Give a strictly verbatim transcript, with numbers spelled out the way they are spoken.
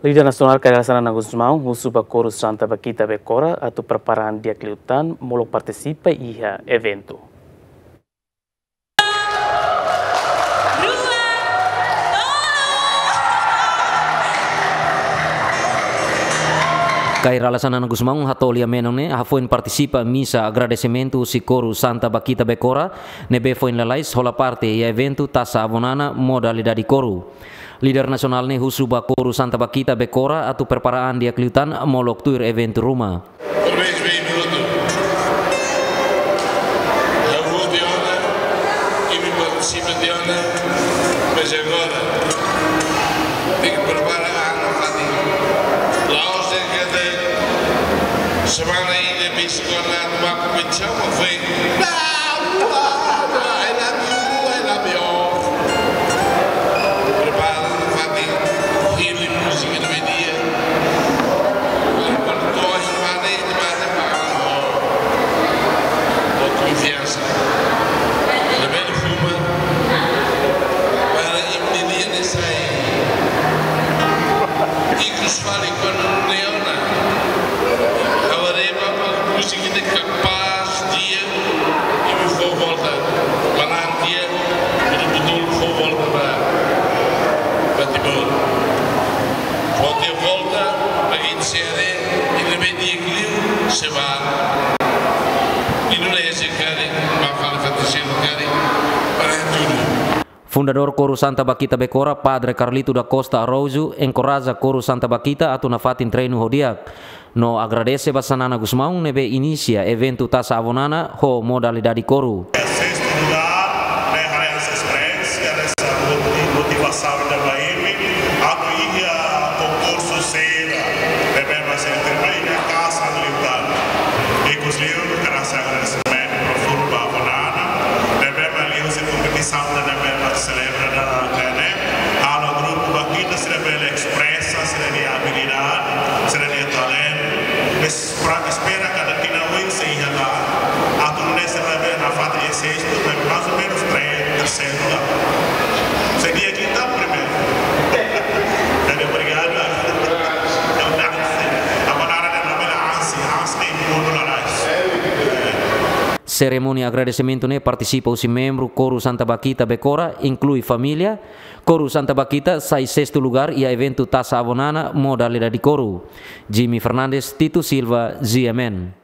Líder nasionál Kay Rala Xanana Gusmão husu ba Koru Santa Bakhita Becora atu prepara an di'ak liután molok partisipa iha eventu. Kay Rala Xanana Gusmão hato'o lia menon ne'e hafoin partisipa misa agradesimentu husi Koru Santa Bakhita Becora ne'ebé foin lalais hola parte iha eventu Taça Avonana modalidade Koru. Líder nasionál ne'e husu ba Koru Santa Bakhita Becora atu prepara an di'ak liután molok tuir eventu ruma. Por mês vem minuto. Ha'u hotu tiha ona, imi partisipa tiha ona, mas agora tenke prepara an nafatin. La'ós de'it katak semana ida bis kona ba kompetisaun, mas foin. Não, não, não, I love you, I love you. Prepara nafatin, hili múzika do meio-dia. Agora to'o semana ida ba, ba, ba konfiansa. Labele fuma. Para imi-nia lia ne'e sai ikus fali kuandu ne'e ona. Agora é ba, ba múzika de capaz, di'ak, imi fó volta. Manán di'ak, betul-betul fó volta ba, ba Timor. Fó tiha volta, ba ita sere, ita be di'ak liu, sei ba Indonézia karik, ba fali fatin seluk karik, para tudu. Fundadór Koru Santa Bakhita Becora, Padre Carlito da Costa Araújo, enkoraja Koru Santa Bakhita atu nafatin treinu ho di'ak. No agradese ba Xanana Gusmão ne'ebé inisia eventu Taça Avonana ho modalidade Koru. Sestu lugár, ne'e haree hanesan esperiénsia, hanesan moti-, motivasaun ida ba imi, atu iha konkursu sira, ne'ebé mak sei terima iha kasan liután. Ikus liu, hakarak agradesimentu profundu ba Avonana, ne'ebé mak liuhusi kompetisaun ida ne'ebé mak selebra dala ida ne'e, halo grupu Bakhita sira bele espresa sira-nia abilidade, sira-nia talentu. Es-, pra, espera katak tinan oin sei iha la, atu nune'e sira bele nafatin iha sestu, mas mais ou menos três, terceiro lugar. Seria quinta, primeiro. Jadi, obrigadu. Agora, na bela ansi, ansi tem mundo lá atrás. Serimónia agradesimentu ne'e partisipa husi membru Koru Santa Bakhita Becora, inklui família. Koru Santa Bakhita sai sestu lugár iha eventu Taça Avonana modalidade Koru. Jimmy Fernandes, Tito Silva, G M N.